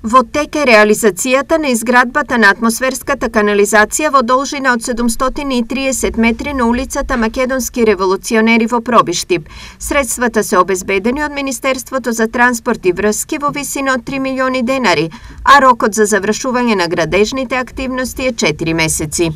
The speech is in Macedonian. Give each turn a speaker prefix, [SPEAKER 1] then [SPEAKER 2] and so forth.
[SPEAKER 1] Во тек е реализацијата на изградбата на атмосферската канализација во должина од 730 метри на улицата Македонски револуционери во Пробиштип. Средствата се обезбедени од Министерството за транспорт и врски во висина од 3 милиони денари, а рокот за завршување на градежните активности е 4 месеци.